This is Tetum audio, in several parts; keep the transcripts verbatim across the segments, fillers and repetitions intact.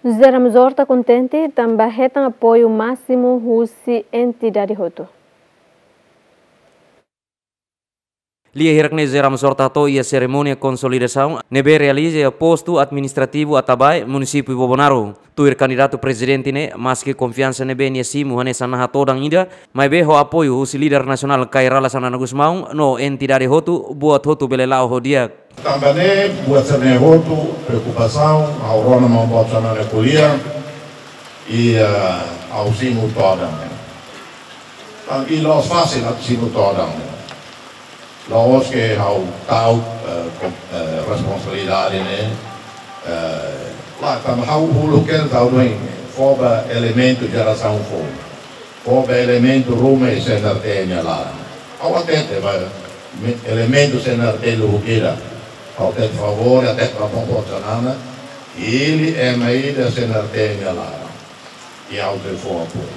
José Ramos Horta kontente tanba hetan apoiu másimu husi entidade hotu. Lia hirak ne'e José Ramos Horta hato'o iha serimónia konsolidasaun ne'ebé realiza iha postu administrativu Atabae, munisípiu Bobonaro. Tuir kandidatu prezidente ne'e, maski konfiansa ne'ebé nia simu hanesan naha todan ida, maibé ho apoiu husi líder nasionál Kay Rala Xanana Gusmão no entidade hotu, buat hotu bele la'o ho di'ak. Tanba ne'e buat sira-ne'e hotu preokupasaun, ha'u rona maun boot Xanana ko'alia, i, eh, ha'u simu todan. Tan, i la'ós fasil atu simu todan. La'ós ke ha'u ta'uk, eh, kom-, eh, responsabilidade ne'e, eh, la, tanba ha'u uluk hela ta'uk duni, fó ba elementu jerasaun foun. Fó ba elementu ruma iha C N R T nia laran. Ha'u hatete ba me-, elementu C N R T lubuk ida. Ha'u hatete favór, hatete ba maun boot Xanana. Hili ema ida C N R T nia laran. I ha'u sei fó apoiu.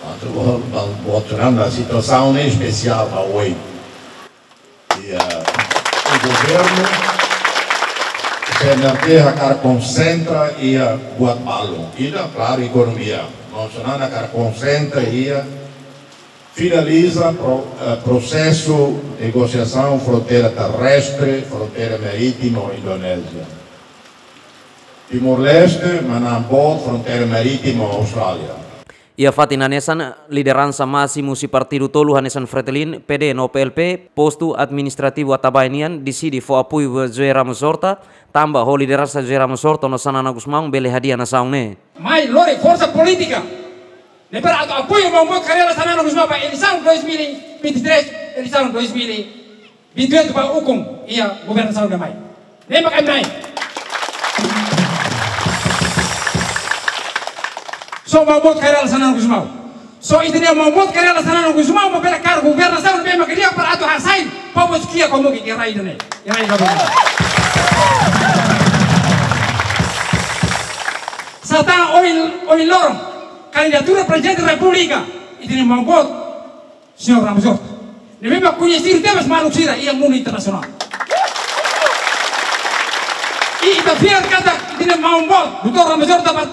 Maibé, maun boot Xanana, situasaun ne'e espesiál ba oin. I, ah, o governu, C N R T hakarak konsentra iha buat balun. Ida, klaru, ekonomia. Maun Xanana hakarak konsentra iha finaliza pro-, eh, prosesu negosiasaun fronteira terrestre, fronteira marítima ho Indonézia. Timor-Leste, maun boot, fronteira marítima ho Austrália. Iha fatin hanesan, lideransa másimu husi partidu tolu hanesan Fretilin, P D no P L P, postu administrativu Atabae nian deside fó apoiu ba José Ramos Horta, tanba ho lideransa José Ramos Horta no Xanana Gusmão bele hadi'a nasaun ne'e. Mai lori forsa polítika ne'ebé atu apoiu maun boot Kay Rala Xanana Gusmão ba eleisaun dois mil e vinte e três, eleisaun dois mil e vinte e oito ba ukun iha governasaun ida mai. Ne'e mak ami-nia. Só maun boot Kay Rala Xanana Gusmão. Só ita-nia maun boot Kay Rala Xanana Gusmão mak bele kaer governasaun ne'ebé mak di'ak para atu hasai povu sira-nia komu iha rai ida-ne'e. Iha rai ida-ne'e. Sá tan ohin, ohin loron, kandidatura Prezidente Repúblika, ita-nia maun boot, señór Ramos Horta. Ne'ebé mak koñesidu tebes maluk sira iha mundu internasionál. I ita fiar katak ita-nia maun boot, doutór Ramos Horta, ba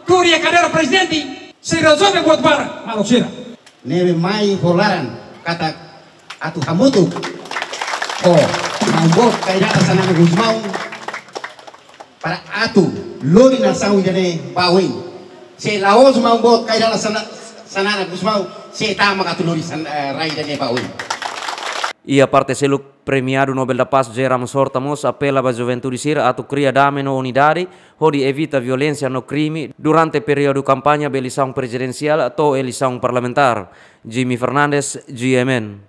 tuur iha kadeira prezidente, sei rezolve buat barak, maluk sira. Ne'ebé mai ho laran katak atu hamutuk ho maun boot Kay Rala Xanana Gusmão para atu lori nasaun ida-ne'e ba oin. Se la'ós maun boot Kay Rala Xana-, Xanana Gusmão, sé tan mak atu lori san-, eh, rai ida-ne'e ba oin. Iha parte seluk, Premiadu Nobel da Paz José Ramos Horta mós apela ba juventude sira atu kria dame no unidade, hodi evita violénsia no krime durante períodu kampaña ba eleisaun prezidensiál to'o eleisaun parlamentár. Jimmy Fernandes, G M N.